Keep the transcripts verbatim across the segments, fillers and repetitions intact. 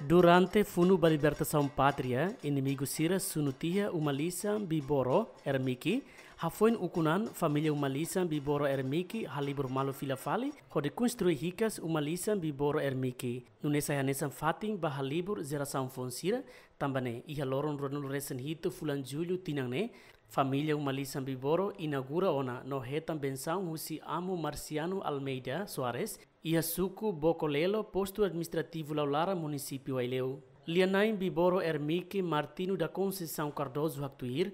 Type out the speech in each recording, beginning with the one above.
Durante funu ba libertasaun pátria, inimigu sira sunu tiha uma-lisan Biboro Ermiki. Hafoin ukun an, família uma-lisan Biboro Ermiki halibur malu fila fali hodi konstrui hikas uma-lisan Biboro Ermiki. Nune'e sai hanesan fatin ba halibur jerasaun foun sira, tanba ne'e iha loron ruanulu resin hitu fulan Jullu tinan ne'e, família uma-lisan Biboro inaugura ona no hetan bensaun husi Amu Marciano Almeida Soares, iha suku Bokolelo, postu administrativu Laulara, munisípiu Aileu. Lia-na'in Biboro Ermiki Martino da Conceição Cardoso haktuir,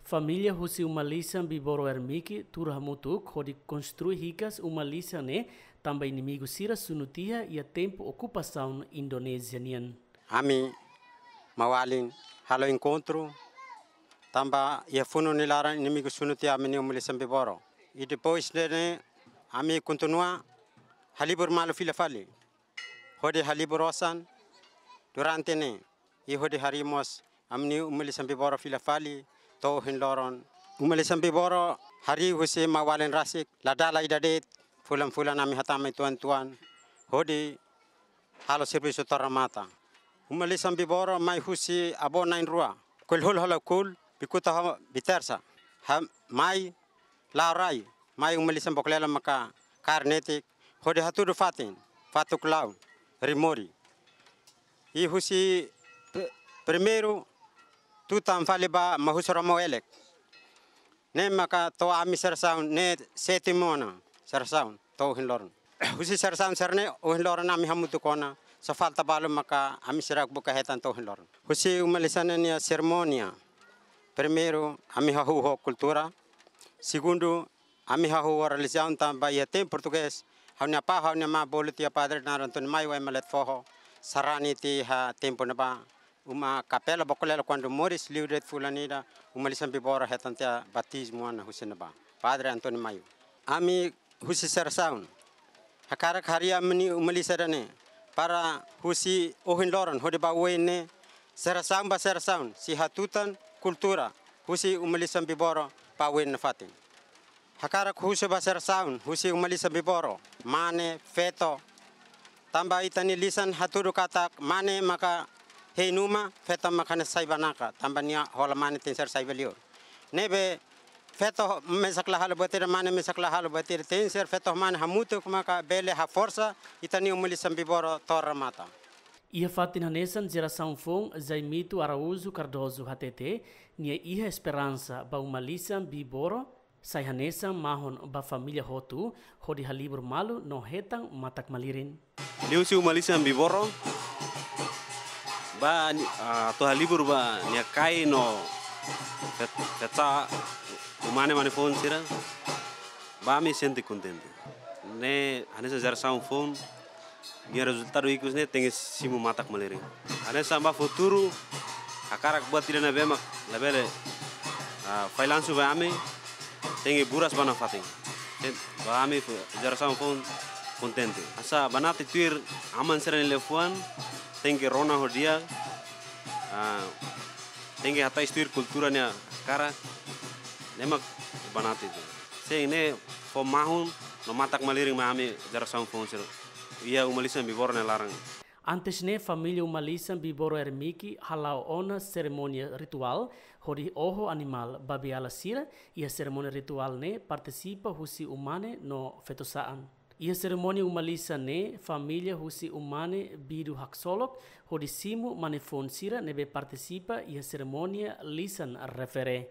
família husi uma-lisan Biboro Ermiki tuur hamutuk hodi konstrui hikas uma-lisan ne'e, tanba inimigu sira sunu tiha iha tempu okupasaun Indonézia nian. Ami maun-alin halo enkontru, tanba iha funu nia laran inimigu sunu tiha ami-nia uma-lisan Biboro. I depois de ne'e, ami kontinua halibur malu fila fali. Hodi halibur osan durante ne'e, i hodi harii mós ami-nia uma-lisan Biboro fila fali to'o ohin loron. Uma-lisan Biboro harii husi maun-alin rasik, la dala ida de'it, fulan-fulan ami hatama uitoan-uitoan hodi halo servisu to'o remata. Uma-lisan Biboro mai husi avó na'in-rua, Koil Hulu halo Koil, Bikuta ho Bitersa. Ha, mai la'o rai, mai uma-lisan Bokolelo maka kaer netik, hodi hatudu fatin, fatuk-laun, rimori. I husi pe-, primeiru tutan fali ba Mahusu Ramo Elek. Ne'e maka to'o ami jerasaun ne'e sétimu ona jerasaun to'o ohin loron. Husi jerasaun sira-ne'e ohin loron ami hamutuk ona, só falta balu maka ami seidauk buka hetan to'o ohin loron. Husi uma-lisan ne'e nia serimónia, primeiru ami hahú ho kultura, segundu ami hahú ho relijiaun tanba iha tempu portugés, ha'u-nia apá, ha'u-nia amá bolu tiha padre naran António Maio, ema leet foho, sarani tiha tempu ne'ebá, uma kapela Bokolelo kuandu moris liu de'it fulan ida, uma-lisan Biboro hetan tiha batizmu ona husi ne'ebá. Padre António Maio. Ami husi jerasaun hakarak harii ami-nia uma-lisan ida-ne'e, para husi ohin loron hodi ba oin ne'e, jerasaun ba jerasaun sei hatutan kultura husi uma-lisan Biboro ba oin nafatin. Hakarak husu ba jerasaun husi uma-lisan Biboro, mane, feto. Tanba ita-nia lisan hatudu katak mane maka hein uma, feto maka hanesan sai banaka, tanba nia hola mane tenke ser sai ba liur. Ne'ebé feto mesak la halo buat ida, mane mesak la halo buat ida, tenke ser feto ho mane hamutuk maka bele haforsa ita-nia uma-lisan Biboro to'o remata. Iha fatin hanesan, jerasaun foun Zaimito Araújo Cardoso hatete, nia iha esperansa ba uma-lisan Biboro sai hanesan mahon ba família hotu, hodi halibur malu no hetan matak-malirin. Liuhusi uma-lisan Biboro, ba ni-, ah, atu halibur ba nia kain no fet-, fetsa umane mane foun sira, ba ami sente kontente. Ne'e hanesan jerasaun foun, nia rezultadu ikus ne'e tenke simu matak-malirin. Hanesan ba futuru, hakarak buat ida ne'ebé mak labele, ah, fallansu ba ami, tenke buras ba nafatin. Ten-, ba ami fu-, jerasaun foun kontente. Hanesan banati tuir aman sira-nia liafuan, tenke rona ho di'ak, ah, tenke hatais tuir kultura nia hakarak, ne'e mak banati tuir. Sei ne'e fó mahon no matak-malirin mai ami jerasaun foun sira iha uma-lisan Biboro nia laran. Antes ne'e, família uma-lisan Biboro Ermiki hala'o ona serimónia rituál hodi oho animál babiala sira. Iha serimónia rituál ne'e partisipa husi umane no feto-saan. Iha serimónia uma-lisan ne'e, família husi umane bidu haksolok hodi simu mane foun sira ne'ebé partisipa iha serimónia lisan refere.